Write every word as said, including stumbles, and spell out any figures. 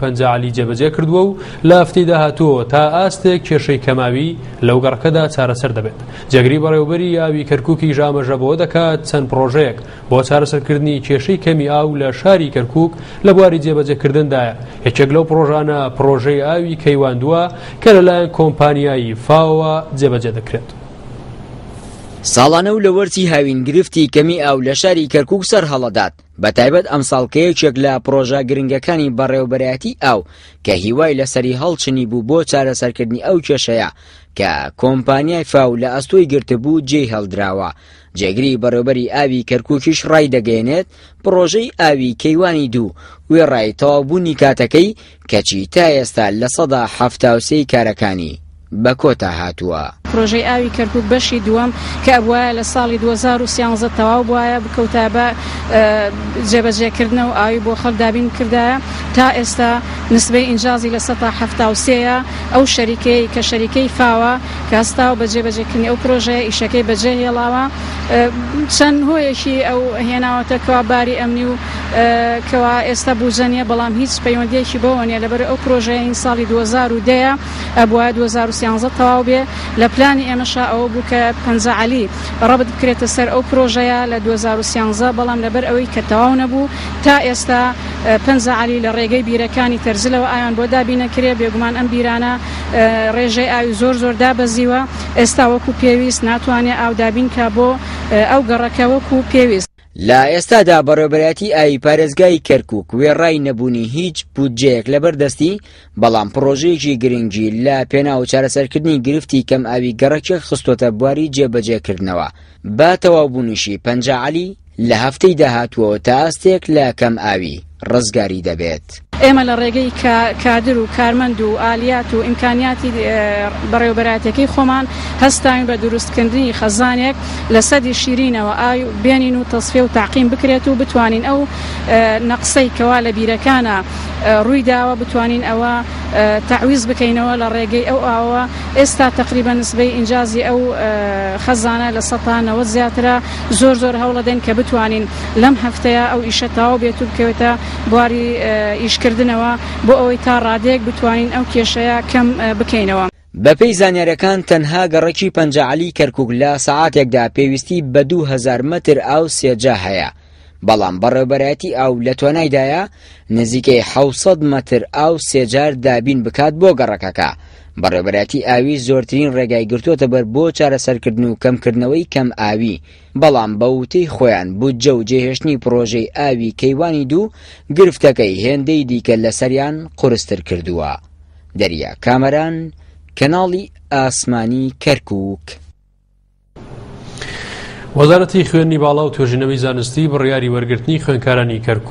پەنجا عەلی جێبەجێ کردووە و لە هەفتەی داهاتووەوە تا ئاستێک کێشەی کەماوی لەو گەڕەکەدا چارەسەر دەبێت. جێگری بەڕێوەبەری ئاوی کەرکووکیش ئاماژە بەوە دەکات چەند پرۆژەیەک بۆ چارەسەرکردنی کێشەی کەمی ئاو لە شاری کەرکووک لە بواری جێبەجێکردندایە. یەکێک لەو پرۆژانە پرۆژەی ئاوی کەیواندووە کە لەلایەن کۆمپانیای فاوە جێبەجێ دەکرێت. ساڵانە و لە وەرزی هاوین گرفتی کەمی ئاو لە شاری کەرکووک سەر هەڵەدات، بە تایبەت ئەمساڵ کە یەکێک لە پرۆژە گرنگەکانی بەڕێوەبەرایەتی ئاو کە هیوای لەسەری هەڵچنی بوو بۆ چارەسەرکردنی ئەو کێشەیە کە کۆمپانیای فاو لە ئەستۆی گرتبوو جێی هەڵدراوە. جێگری بەڕێوەبەری ئاوی کەرکووکیش ڕای دەگەیەنێت پرۆژەی ئاوی کەیوانی دوو وێڕای تەواوبوونی کاتەکەی کەچی تا ئێستا لە سەدا حەفتا و سێی کارەکانی بە کۆتا هاتووە. پرۆژەی ئاوی کەرکووک بەشی دووەم کە ئەبوایە لە ساڵی دوو هەزار و سیانزە تەواو بوایە بکەوتایە بە جێبەجێکردنەوە و ئاوی بۆ خەڵک دابین کردایە، تا ئێستا نسبەی ئینجازی لە سەتا حەفتا و سێیە. ئەو شەریکەی کە شەریکەی فاوە کە هەستاوە بە جێبەجێکردنی ئەو پرۆژەیە ئیشەکەی بەجێ هێڵاوە، چەند هۆیەکی ئەو هێناوەتە کەوا باری ئەمنی و کەوا ئێستا بوجە نییە، بەڵام هیچ پەیوەندیەکی بەوە نییە. لەبەر ئەو پرۆژەیە این ساڵی دوو هەزار و دەیە ئەبوایە دوو هەزار و سیانزە تەواو بێ. لە پلانی ئێمەشا ئەوە بوو کە پەنجا عەلی ڕەبت بکرێتە سەر ئەو پرۆژەیە لە دوو هەزار و سیانزە، بەڵام لەبەر ئەوەی کە تەواو نەبوو تا ئێستا پەنجا عەلی لە ڕێگەی بیرەکانی تەرزلەوە ئاویان بۆ دابینەکرێ. بێگومان ئەم بیرانە ڕێژەی ئاوی زۆر زۆر دابەزیوە، ئێستا وەکو پێویست ناتوانێت ئاو دابین کە بۆ ئەو گەڕەکە وەکو پێویست. لە ئێستادا بەڕێوەبەرایەتی ئاوی پارێزگای کەرکووک وێڕای نەبوونی هیچ بودجەیەک لەبەردەستی، بەڵام پرۆژەیەکی گرنگی لە پێناو چارەسەرکردنی گرفتی کەم ئاوی گەڕەکێک خستۆتە بواری جێبەجێکردنەوە. با تەواوبوونیشی پەنجا عەلی لە هەفتەی داهاتووەوە تا ئاستێک لە کەم ئاوی ڕزگاری دەبێت. ئێمە لە ڕێگەی کادر و کارمەند و ئالیات و ئیمکانیاتی بەڕێوەبەرایەتەکەی خۆمان هەستاوین بە دروستکردنی خەزانێک لە سەدی شیرینەوە ئاو بێنین و تەسفیە و تاقیم بکرێت و بتوانین ئەو نەقسەی کەوا لە بیرەکانە ڕووی داوە بتوانین ئەوە تەعویز بکەینەوە لە ڕێگەی ئەو ئاوە. ئێستا تقریبا نسبەی ئینجازی ئەو خەزانە لە سەتا نەوەد زیاترە. زۆر زۆر هەوڵەدەین کە بتوانین لەم هەفتەیە ئەو ئیشە تەواو بێت و بکەوێتە بواری ئیشکردنەوە بۆ ئەوەی تا ڕادەیەک بتوانین ئەو کێشەیە کەم بکەینەوە. بەپێی زانیارەکان تەنها گەڕەکی پەنجا عەلی کەرکووک لە سەعاتێکدا پێویستی بە دوو هەزار مەتر ئاو سێجا هەیە، بەڵام بەڕێوەبەرایەتی ئاو لە توانایدایە نزیکەی حەوت سەد مەتر ئاو سێجار دابین بکات بۆ گەڕەکەکە. بەڕێوەبەرایەتی ئاوی زۆرترین ڕێگای گرتووەتە بەر بۆ چارەسەرکردن و کەمکردنەوەی کەم ئاوی، بەڵام بە وتەی خۆیان بودجە و جێهێشتنی پرۆژەی ئاوی کەیوانی دوو گرفتەکەی هێندەی دیکە لەسەریان قورستر کردووە. دەریا کامەران، کەناڵی ئاسمانی کەرکووک. وەزارەتی خوێندنی باڵا و توێژینەوەی زانستی بڕیاری وەرگرتنی خوێندکارانی کەرکووک